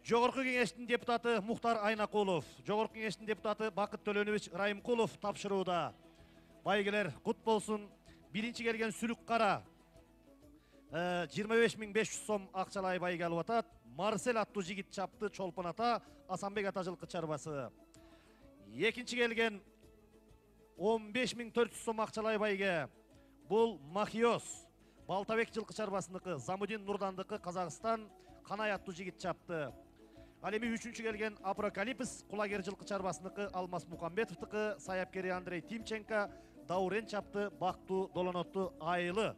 Жогорку кеңештин депутаты Мухтар Айнакулов, Жогорку кеңештин депутаты Бакыт Төлөнович Райымкулов тапшырууда. Байгелер кут болсун. Биринчи келген Сүлүк Кара 25.500 сом акчалай байге алып атат. Марсель аттуу жигит чапты Чолпон ата, Асанбек ата жылкы чарбасы. Экинчи келген 15.400 сом акчалай байге. Бул Махиос, Балтабек жылкы чарбасыныкы, Замудин Нурдандыкы, Казакстан, Канай аттуу жигит чапты. Ал эми үчүнчү келген Апрокалипс, Кулагер жылкы чарбасыныкы, Алмаз Мукамбетовдыкы, саяпкери Андрей Тимченко, Даурен чапты, Бактуу Долонотту айылы.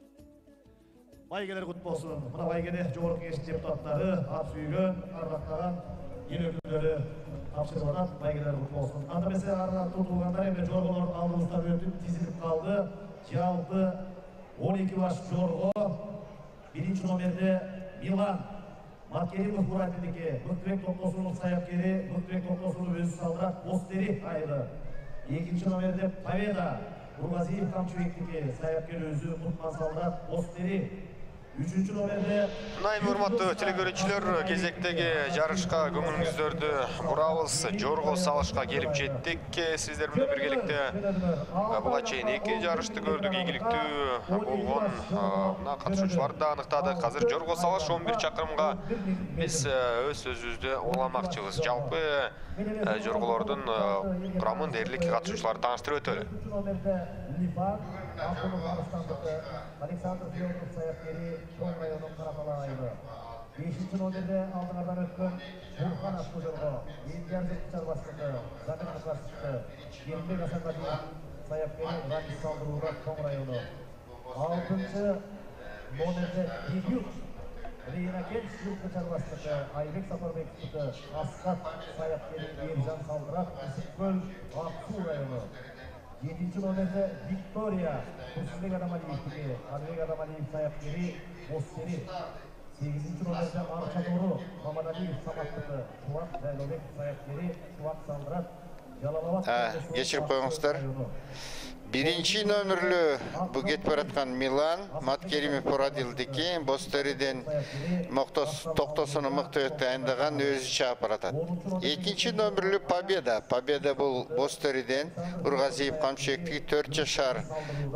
Байгелер кут болсун. Мына байгене жогорку кеңеш депутаттары, ат сүйгөн, ардактаган эл өкүлдөрү тапшырып атат. Байгелер кут болсун. Анда эмесе арына тургулгандар эми жорголор алдыбыздан өтүп тизилип калды. Жалпы 12 баш жорго. Биринчи номерде Милан Маткеримов Муратиндики, Мыктыбек Токтосунов саяпкери, Мыктыбек Токтосунов өзү салдырат Бостери айылы. Экинчи номерде Победа Бургазиев Камчыбектики, саяпкери өзү Мутман салдырат Бостери. Үчүнчү номерде Найм урматтуу телекөрүүчүлөр, кезектеги жарышка көңүлүңүздөрдү бурабыз. Жорго салышка келип жеттик. Сиздер менен биргеликте буга чейин эки жарышты көрдүк. Ийгиликтүү болгон мына катышуучуларды да аныктадык. Азыр жорго салыш 11 чакырымга биз өз сөзүбүздү уламакчыбыз. Жалпы жорголордун курамын дээрлик катышуучуларды тааныштырып өтөлү. Александр Федоров саяпкери Чоң районунун Каратала айылы. 5-чи номерде алдыңардан өткөн Бурхан аттуу жорго, Элдияр жылкы чарбасыныкы, Замир Мукашевди, Келимбек Асанбаев саяпкери Рамис салдырууда Чоң району. 6-чы номерде Дебют Рейнакент жылкы чарбасыныкы, Айбек Сапарбековдуки, Аскат саяпкери Ержан Салдырак, Ысыккөл, Аксуу району. 7-ci номерде Виктория Курсунбек Адамалиевдики, Алибек Адамалиев саяпкери Бостери. 8-ci номерде Арчатору Мамадалиев Саматтыкы, Шуат Жайлобек саяпкери Шуат Салдырат. Кечирип коюңуздар. Биринчи номерлүү бу кетип бараткан Милан Маткеримов Муратилдики, Бостериден Токтосуну Мыктыбек дайындаган өзү чаап баратат. Экинчи номерлүү Победа. Победа бул Бостериден Бургазиев Камчыбектики 4 жашар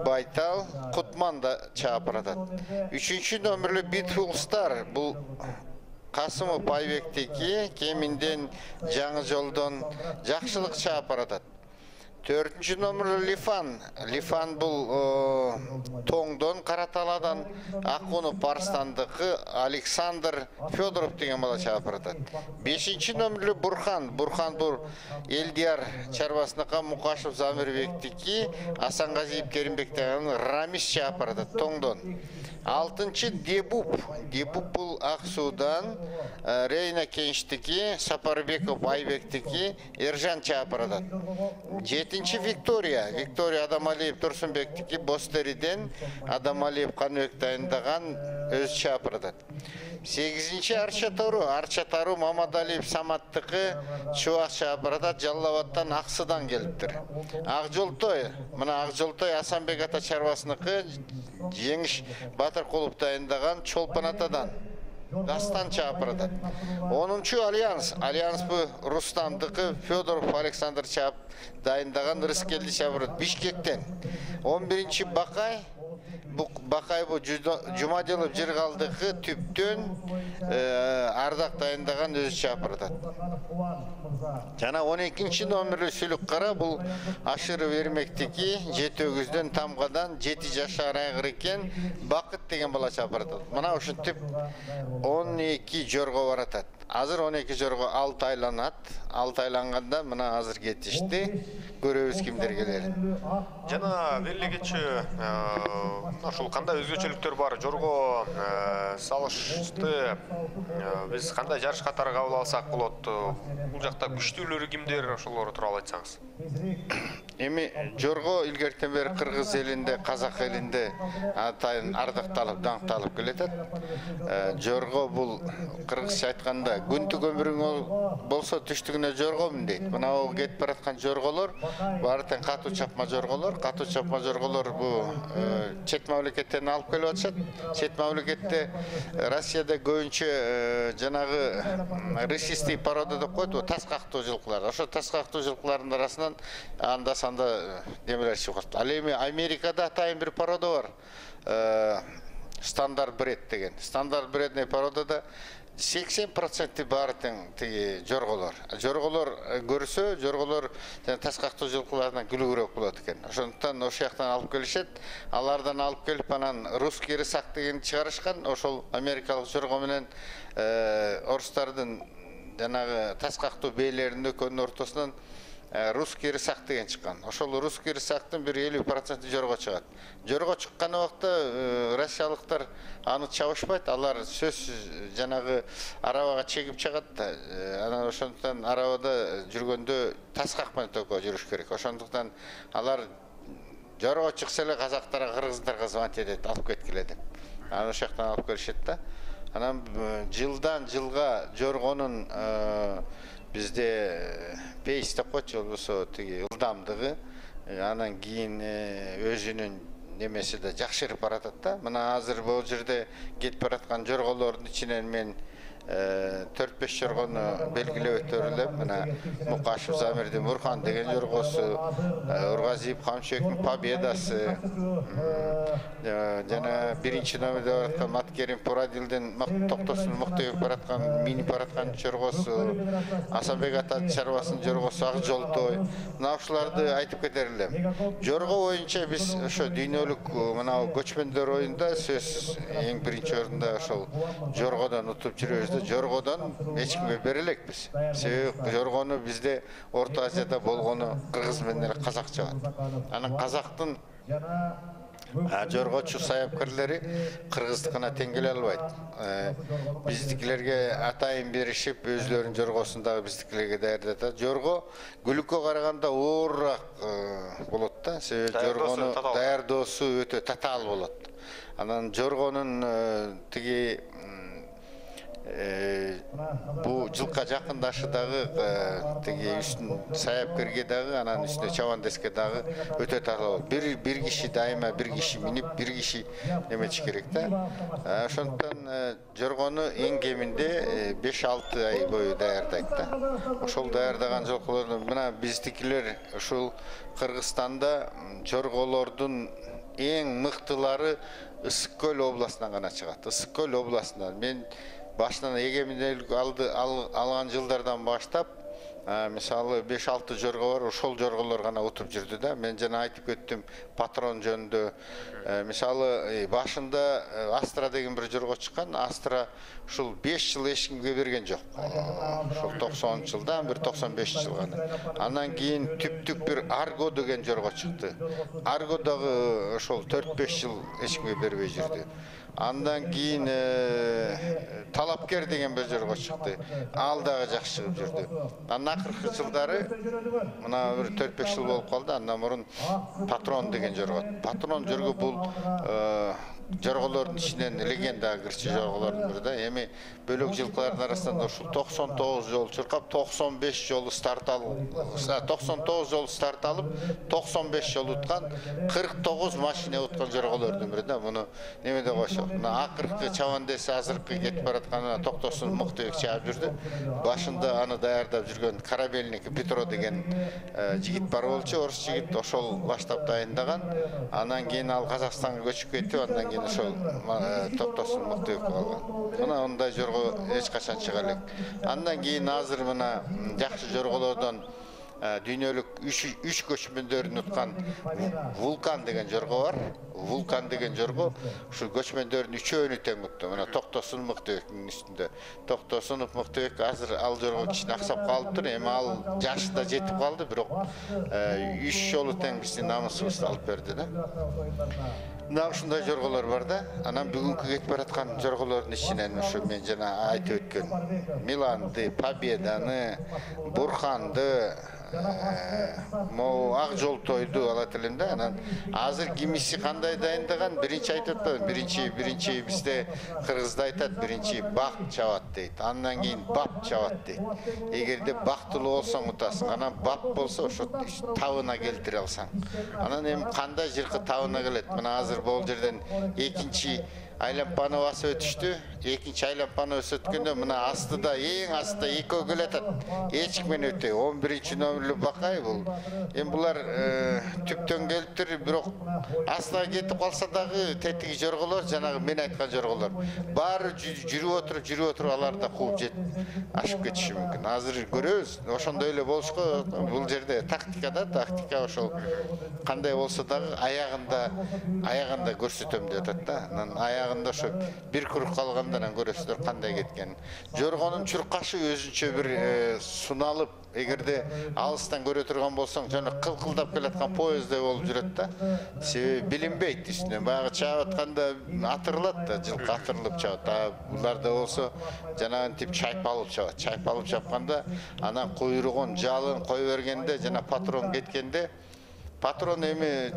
Байтал Кутман да чаап баратат. Үчүнчү номерлүү Beautiful Star бул Касымов Байбектики, Кеминден Жаңы жолдон Жакшылык чаап баратат. 4-cü номерлүү Лифан. Лифан бул Тоңдон Караталадан Акунов Барстандыкы Александр Федоров деген бала чаап баратат. 5-ci номерлүү Бурхан. Бурхан бул Элдияр чарбасыныкы Мукашев Замирбектики, Асангазиев Керимбек деген Рамис чаап баратат Тоңдон. 6-cı Дебуп. Дебуп бул Аксуудан Рейна Кенчтики, Сапарбеков Айбектики, Ержан чаап баратат. 7-ci Виктория. Виктория Адамалиев Турсунбектики, Бостериден Адамалиев Канбек дайындаган өз чаап баратат. 8-ci Арчатору. Арчатору Мамадалиев Саматтыкы Чубак чаап баратат. Жалал-Абадтан Аксыдан келиптир. Акжолтой. Мына Акжолтой Асанбек ата чарбасыныкы, Жеңиш Батыркулов дайындаган Чолпон атадан Дастан чаап баратат. 10-чу Альянс. Альянс бу Рустамдыкы, Федоров Александр чаап дайындаган Рыскелди чаап баратат Бишкектен. 11-чи Бакай. Бакай бу Жумадилов Жыргалдыкы Түптөн Ардак дайындаган өзү чаап баратат. Жана 12-чи номерлүү Сүлүк Кара бул Ашыров Эрмектики, Жетөгүздөн Тамгадан 7 жашар айгыр экен Бакыт деген бала чаап баратат. Мына ушинтип 12 жорго баратат. Азыр 12 жорго 6 айланат. 6 айланганда мына азыр кетишти. Көрөбүз кимдер келерин. Жана белгичи ушул кандай өзгөчөлүктөр бар? Жорго салышты биз кандай жарыш катары кабыл алсак болот? Бул жакта күчтүүлөрү кимдер, ошолор тууралуу айтсаңыз. Эми жорго илгертен бери кыргыз элинде, казак элинде атайын ардакталып, даңкталып келатат. Жорго бул кыргызча айтканда күндүк өмүрүң болсо түштүгүнө жоргомун дейт. Мына о кетип бараткан жорголор баары тең катуу чапма жорголор. Катуу чапма жорголор бул чет мамлекеттен алып келип атышат. Чет мамлекетте Россияда көбүнчө жанагы рысистый порода деп коет, тас кактуу жылкылар. Ошо тас кактуу жылкылардын арасынан анда санда немелер чыгып калат. Ал эми Америкада атайын бир порода бар. Стандарт бред деген. Стандарт бредный породада 80% баары тең тиги жорголор. Жорголор көрсө, жорголор тас кактуу жылкылардан күлүүрөөк болот экен. Ошондуктан ошол жактан алып келишет. Алардан алып келип анан русский рысак деген чыгарышкан. Ошол америкалык жорго менен орустардын жанагы тас кактуу бээлеринин экөөнүн ортосунан русский рысак деген чыккан. Ошол русский рысактын бир 50% жорго чыгат. Жорго чыккан убакта россиялыктар аны чабышпайт. Алар сөзсүз жанагы арабага чегип чыгат. Анан ошондуктан арабада жүргөндө тас какпай токко жүрүш керек. Ошондуктан алар жорго чыкса эле казактарга, кыргыздарга звонить этет, алып кеткиле деп. Анан ошол жактан алып келишет да. Анан жылдан жылга жоргонун бизде пейс деп коет, болбосо тиги ылдамдыгы, анан кийин өзүнүн немеси да жакшырып баратат да. Мына азыр бул жерде кетип бараткан жорголордун ичинен мен 4-5 жоргону белгилеп өтөр элем. Мына Мукашев Замирдин Мурхан деген жоргосу, Ургазиев Камчыбектин Победасы, жана биринчи номерде бараткан Маткерим Пурадилдин Токтосун мыкты бараткан, минип бараткан жоргосу, Асанбек ата чарбасынын жоргосу Ак Жолтой. Мына ушуларды айтып кетер элем. Жорго боюнча биз ошо дүйнөлүк мына көчмөндөр оюнда сөз эң биринчи орунда ошол жоргодон утуп жүрөбүз. Жоргодон эч кимге бере элекпиз. Себеби жоргону бизде Орто Азияда болгону кыргыз менен казак чыгат. Анан казактын жоргочу саяпкерлери кыргыздыкына тең келе албайт. Биздикилерге атайын беришип, өзлөрүнүн жоргосун дагы биздикилерге даярдатат. Жорго гүлүккө караганда оорураак болот да. Себеби жоргону даярдоосу өтө татаал болот. Анан жоргонун тиги бу жылка жакындашы дагы тиги үстүн саяпкерге дагы, анан үстүнө чабандеске дагы өтө татаал. Бир киши дайыма бир киши минип, бир киши неметиш керек да. Ошондуктан жоргону эң кеминде 5-6 ай бою даярдайт да. Ошол даярдаган жолкулорду мына биздикилер ушул Кыргызстанда жорголордун эң мыктылары Ысык Көл областынан гана чыгат. Ысык Көл областынан мен башынан эгеминдүүлүк алган жылдардан баштап, мисалы 5-6 жорго бар, ошол жорголор гана утуп жүрдү да. Мен жана айтып кеттим патрон жөнүндө. Мисалы башында Астра деген бир жорго чыккан. Астра ушул 5 жыл эч кимге берген жок. Ошол 90-жылдан бир 95 гана. Андан кийин түптүк бир Арго деген жорго чыкты. Арго дагы ошол 4-5 жыл эч кимге бербей жүрдү. Андан кийин Талапкер деген бир жорго чыкты. Ал дагы жакшы чыгып жүрдү. Андан акыркы жылдары мына бир 4-5 жыл болуп калды. Андан мурун Патрон деген жорго. Патрон жорго бул жорголордун ичинен легенда кирчи жорголордун бири да. Эми бөлөк жылкылардын арасында ушул 99 жолу чуркап, 95 жолу старт алып, 99 жолу старт алып, 95 жолу уткан, 49 машина уткан жорголордун бири да. Муну неме деп коюшат. Мына акыркы чабандеси азыркы кетип бараткан Токтосун Мыктыбек чаап жүрдү. Башында аны даярдап жүргөн Корабельник Петро деген жигит бар болчу, орус жигит, ошол баштап дайындаган. Андан кийин ал Казакстанга көчүп кетип, андан кийин ошол Токтосун Мыктыбек алган. Мына ондай жорго эч качан чыга элек. Андан кийин азыр мына жакшы жорголордон дүйнөлүк 3 көчмөндөрүн уткан Вулкан деген жорго бар. Вулкан деген жорго ушул көчмөндөрдүн үчөөнү тең утту. Мына Токтосун Мыктыбектин үстүндө. Токтосунов Мыктыбек азыр ал жорго кичине аксап калыптыр. Эми ал жашы да жетип калды, бирок 3 жолу тең биздин намысыбызды алып берди да. Мына ушундай жорголор бар да. Анан бүгүнкү кетип бараткан жорголордун ичинен ушу мен жана айтып өткөн Миланды, Победаны, Бурханды, могу ак жол тойду алат элем да. Анан азыр кимиси кандай дайындаган биринчи айтып атпадым. Биринчи бизде кыргызда айтат, биринчи бак чабат дейт. Андан кийин бап чабат дейт. Эгерде бактылуу болсоң утасың. Анан бап болсо ошо табына келтире алсаң. Анан эми кандай жылкы табына келет? Мына азыр бул жерден экинчи айлампаны басып өтүштү. Экинчи айлампаны өткөндө мына астыда, эң астыда экөө келатат. Эч ким менен өтө. 11-чи номерлүү бакай бул. Эми булар түптөн келиптир, бирок астына кетип калса дагы тетиги жорголор, жанагы мен айткан жорголор. Баары жүрүп отуруп алар да кууп ашып кетиши мүмкүн. Азыр көрөбүз. Ошондой эле болушко бул жерде тактика ошол кандай болсо дагы аягында көрсөтөм деп атат да. Анан аягында ошо бир курук калгандан көрөсүздөр кандай кеткен. Жоргонун чуркашы өзүнчө бир суналып, эгерде алыстан көрө турган болсоң, жана кылкылдап келаткан поезддей болуп жүрөт да. Себеби билинбейт үстүнөн. Баягы чаап атканда атырылат да, жылкы атырылып чабат. Буларда болсо жанагы тип чайпалып чабат. Чайпалып чапканда анан куйругун, жалын кой бергенде жана патрон кеткенде, патрон эми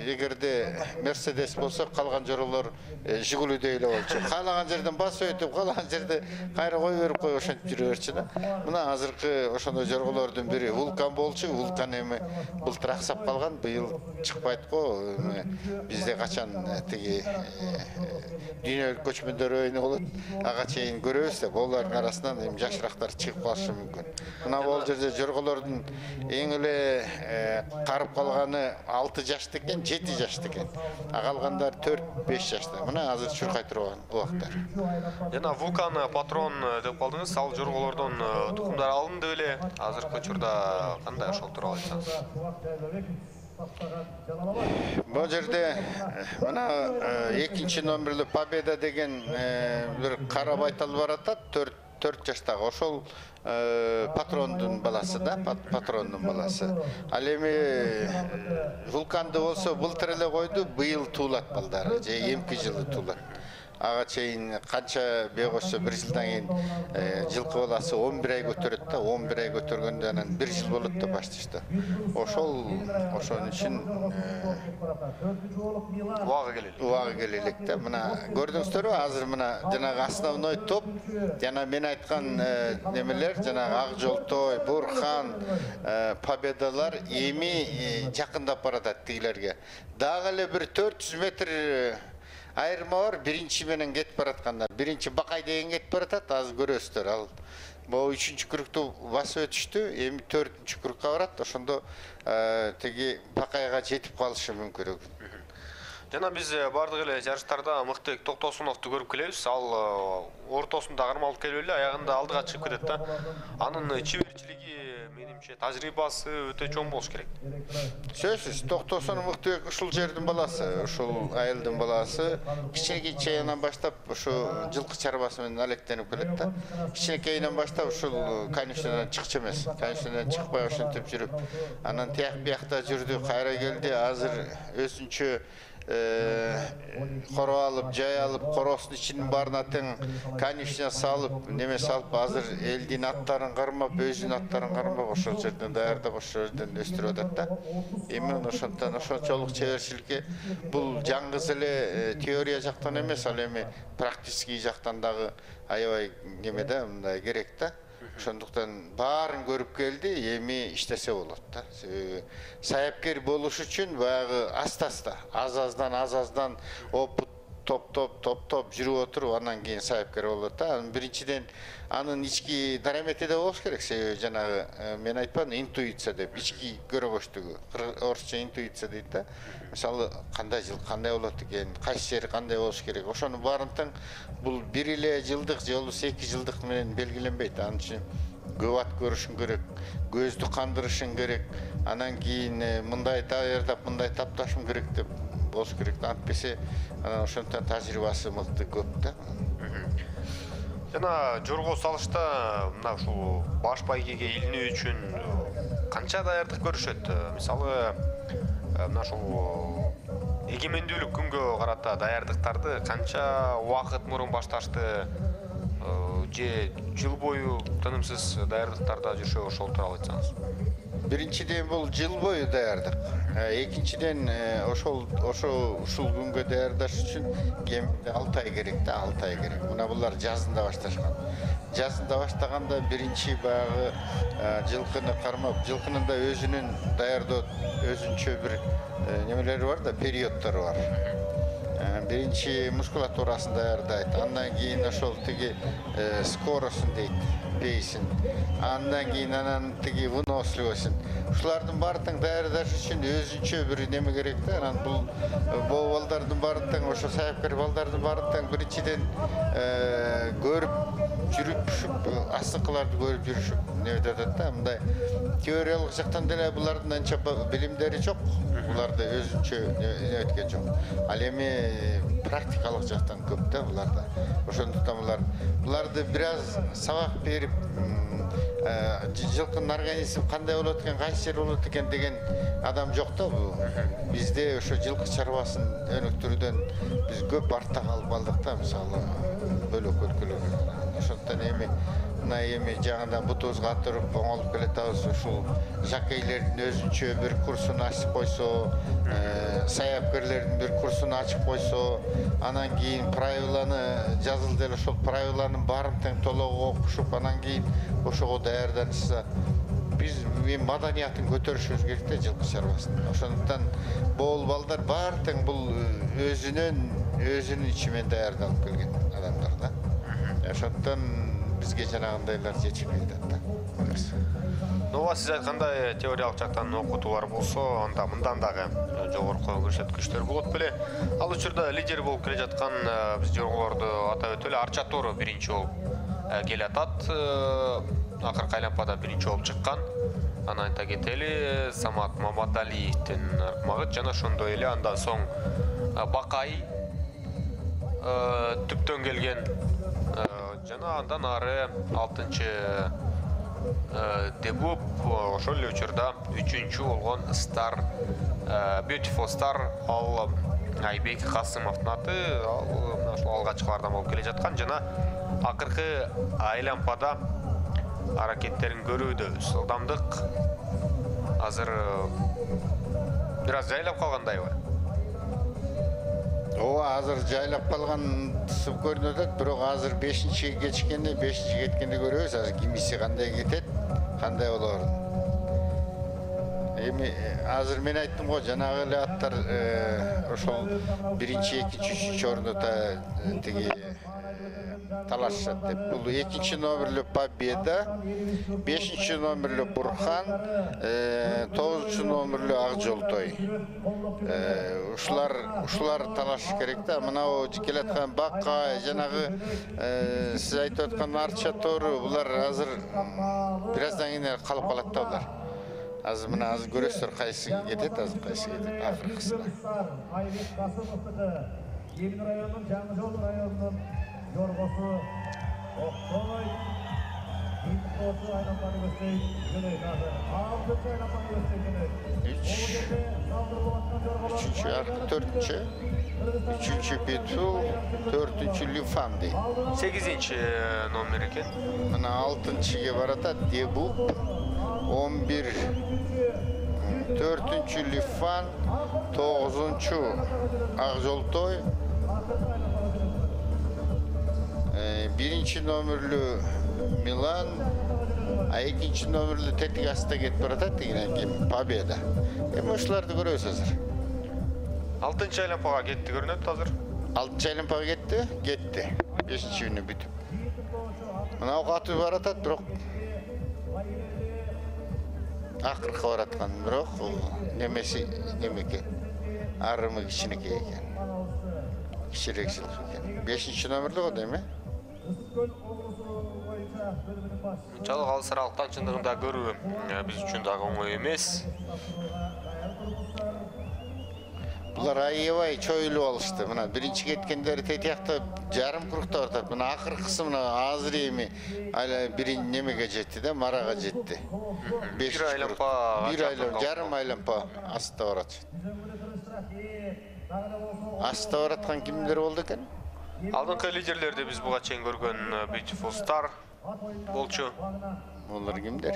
эгерде Мерседес болсо, калган жоролор Жигулидөй эле болчу. Каалаган жерден басып өтүп, каалаган жерде кайра кой берип коюп ошентип жүрө берчү да. Мына азыркы ошондой жорголордун бири Вулкан болчу. Вулкан эми былтыр аксап калган, быйыл чыкпайт го. Бизде качан тиги дүйнөлүк көчмөндөр өйнө болот, ага чейин көрөбүз да. Булардын арасынан эми жашырактар чыгып калышы мүмкүн. Мына бул жерде жорголордун эң эле карып калган 6 жашты экен, 7 жашты экен. Калгандар 4-5 жашта. Мына азыр чуркай турган убактар. Жана Вулкан патрон деп калдыңыз, ал жорголордон тукумдар алынды беле? Азыркы учурда кандай ошол тууралуу айтсаңыз? Бул жерде мына 2-чи номерлүү Победа деген бир кара байтал бар атат, 4 жаштагы. Ошол патрондун баласы да, патрондун баласы. Ал эми Вулканды болсо былтыр эле койду, быйыл туулат балдары, же эмки жылы туулат. Ага чейин канча бегосо 1 жылдан кийин жылкы баласы 11 ай көтөрөт да, 11 ай көтөргөндө анан 1 жыл болот деп башташты. Ошонун үчүн убагы келелек да. Мына көрдүңүздөрбү, азыр мына жанагы основной топ, жана мен айткан немелер, жанагы Ак Жолтой, Бурхан, Победалар эми жакындап баратат тигилерге. Дагы эле бир 400 метр айырма бар, биринчи менен кетип бараткандар. Биринчи Бакай деген кетип баратат, азыр көрөсүздөр. Ал могу 3-чү кругту басып өтүштү, эми 4-чү кругка барат. Ошондо тиги Бакайга жетип калышы мүмкүн. Жана биз бардык эле жарыштарда Мыктыбек Токтосуновду көрүп келебиз. Ал ортосунда кармалып келип эле аягында алдыга чыгып кетет да. Анын чеберчилиги, менимче, тажрыйбасы өтө чоң болуш керек. Сөзсүз, Токтосунов Мыктыбек ушул жердин баласы, ушул айылдын баласы. Кичинекейинен баштап ушу жылкы чарбасы менен алектенип келет да. Кичинекейинен баштап ушул конюшнядан чыкчу эмес. Конюшнядан чыкпай ошентип жүрүп, анан тияк биякта жүрдү, кайра келди. Азыр өзүнчө коро алып, жай алып, коросун ичинин баарына тең конюшня салып, неме салып, азыр элдин аттарын кармап, өзүнүн аттарын кармап, ошол жерден даярдап, ошол жерден өстүрүп атат да. Эми ошондон ошончолук чеберчиликке бул жаңгыз эле теория жактан эмес, ал эми практический жактан дагы аябай неме да, мындай керек да. Ошондуктан баарын көрүп келди, эми иштесе болот да. Саяпкер болуш үчүн баягы аста-аста, аз-аздан опыт топ жүрүп отуруп, андан кийин саяпкер болот да. Биринчиден анын ички дарамети да болуш керек. Себеби жанагы мен айтпадым, интуиция деп, ички көрөгөчтүгү. Орусча интуиция дейт да. Мисалы, кандай жыл кандай болот экен, кайсы жери кандай болуш керек. Ошонун баарын тең бул 1 эле жылдык же болбосо 2 жылдык менен белгиленбейт. Анын үчүн көп ат көрүшүң керек, көздү кандырышың керек. Анан кийин мындай даярдап, мындай тапташым керек деп болуш керек. Антпесе анан ошондон тажрыйбасы мыкты көп да. Жана жорго салышта мына ушул баш байгеге илинүү үчүн канча даярдык көрүшөт? Мисалы, мына ушул эгемендүүлүк күнгө карата даярдыктарды канча убакыт мурун башташты? Же жыл бою тынымсыз даярдыктарда жүрүшөбү, ошол тууралуу айтсаңыз. Биринчиден бул жыл бою даярдык. Экинчиден ошол ушул күнгө даярдаш үчүн кеминде 6 ай керек да, 6 ай керек. Мына булар жазында башташкан. Жазында баштаганда биринчи баягы жылкыны кармап, жылкынын да өзүнүн даярдоо өзүнчө бир немелери бар да, периоддору бар. Биринчи мускулатурасын даярдайт, андан кийин ошол тиги скоросун дейт, пейсин, андан кийин анан тиги выносливосун. Ушулардын баардыгын даярдаш үчүн өзүнчө бир неме керек да. Анан бул боо балдардын баардыгын, ошо саяпкер балдардын баардыгын биринчиден көрүп жүрүп, астыкыларды көрүп жүрүшүп неметип атат да. Мындай теориялык жактан деле булардын анча билимдери жок. Буларда өзүнчө неметкен жок. Ал эми практикалык жактан көп да буларда. Ошондуктан буларды бир аз сабак берип, жылкынын организми кандай болот экен, кайсы жер болот экен деген адам жок да. Бизде ошо жылкы чарбасын өнүктүрүүдөн биз көп артта калып калдык да, мисалы бөлөк өлкөлөр. Ошондуктан эми жаңыдан бутубузга атырып оңолуп келатабыз. Ушул жакейлердин өзүнчө бир курсун ачып койсо, саяпкерлердин бир курсун ачып койсо, анан кийин правиланы жазылды эле, ошол правиланын баарын тең толугу окушуп, анан кийин ошого даярданышса, биз маданиятын көтөрүшүбүз керек да, жылкы чарбасын. Ошондуктан боол балдар баары тең бул өзүнүн ичимен даярдалып келген адамдар да. Ошондуктан бизге жанагындайлар жетишпей атат да. Ооба, сиз айткандай теориялык жактан окутуулар болсо, анда мындан дагы жогорку көрсөткүчтөр болот беле. Ал учурда лидер болуп келе жаткан биз жорголорду атап өтөлү, Арча Тору биринчи болуп келе атат. Акыркы айлампада биринчи болуп чыккан. Анан айта кетели, Самат Мамадалиевдин аркмагы жана ошондой эле андан соң Бакай түптөн келген жана андан ары 6-чы Дебуп, ошол эле учурда 3-чү болгон Star, Beautiful Star, ал Айбек Касымовдун аты, ошол алгачкылардан болуп келе жаткан жана акыркы айлампада аракеттерин көрүүдөбүз. Ылдамдык азыр бир аз жайлап калгандайбы? Ооба, азыр жайлап калгансып көрүнүп атат, бирок азыр 5-чиге кечиккенде, 5-чиге кеткенде көрөбүз, азыр кимиси кандай кетет, кандай болорун. Эми азыр мен айттым го, жанагы эле аттар ошол 1-чи, 2-чи, 3-чү орунда тиги талашат деп. Бул 2-чи номерлүү Победа, 5-чи номерлүү Бурхан, 9-чу номерлүү Акжолтой. Ушулар талаш керек да. Мына келаткан Бакка, жанагы сиз айтып аткан Арча Тору, булар азыр бир аздан кийин калып калат да булар. Азыр мына азыр көрөсүздөр кайсы кетет, азыр кайсы кетет акыркысына. Айбек Касымовдуку Эмин районунун Жаңы-Жол районунун жоргосу Октой Инкосу айлампаны көздөй жөнөйт азыр. 6-чы айлампаны көздөй жөнөйт. 3-чү аркы, 4-чү, 3-чү Бетул, 4-чү Люфам дейт. 8-чи номер экен. Мына 6-чыга баратат Дебуп, 11, 4-чү Люфан, 9-чү Акжолтой, 1-чи номерлүү Милан, а 2-чи номерлүү тетик астта кетип баратат деген Победа. Эми ушуларды көрөбүз азыр. 6-чы айлампага кетти көрүнөт азыр. 6-чы айлампага кетти. 5-чи күнү бүтүп. Мына катып баратат, бирок акыркы бараткан, бирок немеси немеке. Арымы кичинекей экен. Кичирээк жылкы экен. 5-чи номерлүү го дейм, Мынчалык алысыраалыктан чындыгында көрүү биз үчүн дагы оңой эмес. Булар аябай чоюлуп алышты. Мына биринчи кеткендери тетиякта жарым курукта баратат. Мына акыркысы мына азыр эми бирин немеге жетти да, Марага жетти. 1 айлампа, жарым айлампа астта барат. Астта бараткан кимдер болду экен? Алдыңкы лидерлерди биз буга чейин көргөн Beautiful Star болчу. Булар кимдер?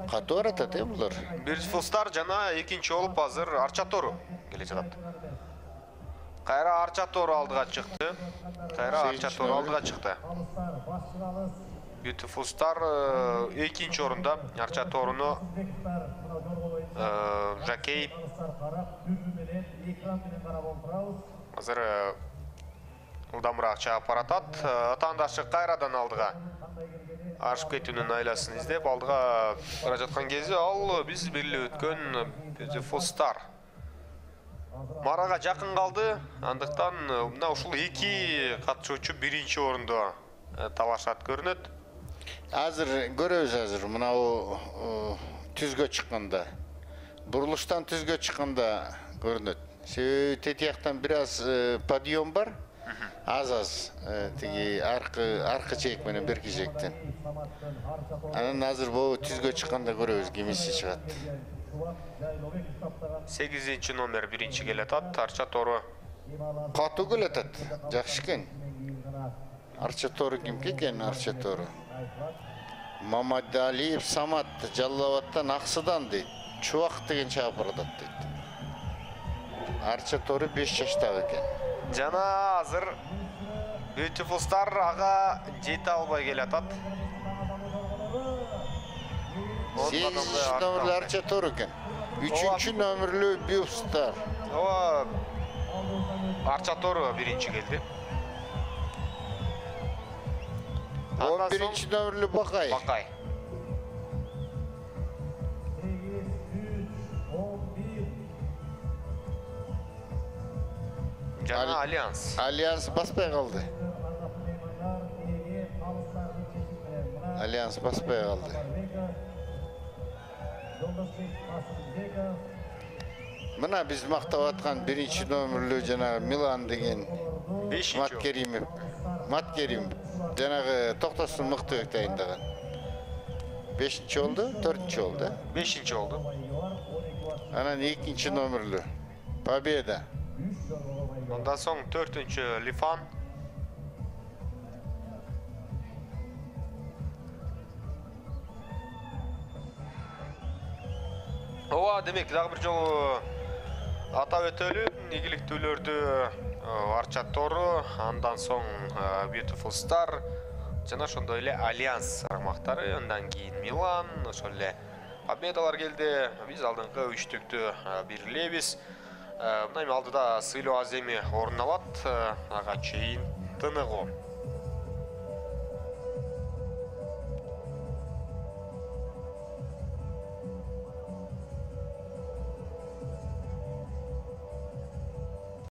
Катуу баратат булар. Beautiful Star жана экинчи болуп азыр Арча Тору келе жатат. Кайра Арча Тору алдыга чыкты. Beautiful Star экинчи орунда. Арча Торуну Жакей азыр ылдамыраак чаап баратат. Атаандашы кайрадан алдыга ашып кетүүнүн айласын издеп алдыга бара жаткан кезде ал биз белгилеп өткөн Beautiful Star Марага жакын калды. Андыктан мына ушул эки катышуучу биринчи орунду талашат көрүнөт. Азыр көрөбүз азыр мынау түзгө чыкканда. Бурулуштан түзгө чыкканда көрүнөт. Себеби тетияктан бир аз подъем бар. Аз тиги аркы чек менен берки чектен. Анан азыр бул түзгө чыкканда көрөбүз кимиси чыгат. 8 номер биринчи келатат. Арча Тору Катуу келатат. Жакшы экен. Арча Тору кимки экен Арча Тору? Мамадалиев Самат Жаллабаттан Аксыдан дейт. Чубак деген чаап баратат дейт. Арча Тору 5 жаштагы экен. жана азыр Beautiful Star ага жете албай келатат. 8 номерлүү Арча Тору экен. 3 номерлүү Beautiful Star. Ооба Арча Тору биринчи келди. 11 номерлүү Бакай. Бакай. Жана Альянс. Альянс баспай калды. Альянс баспай калды. Мына биз мактап аткан 1 номерлүү жана Милан деген Маткерим жанагы Токтостун мыктыбек дайындаган. 5-чи болду, 4-чи болду. 5-чи болду. Анан 2 номерлүү Победа. Ondan soң 4-чү Лифан. Ооба, демек дагы бир жолу атап өтөлү, ийгиликтүүлөрдү Арча Тору, андан соң Beautiful Star жана ошондой эле Альянс аймактары, андан кийин Милан, ошол эле Победалар келди. Биз алдыңкы үчтүктү бирлейбиз. Мына алдыда Сыйлуу Аземи орун алат, ага чейин тыныгуу.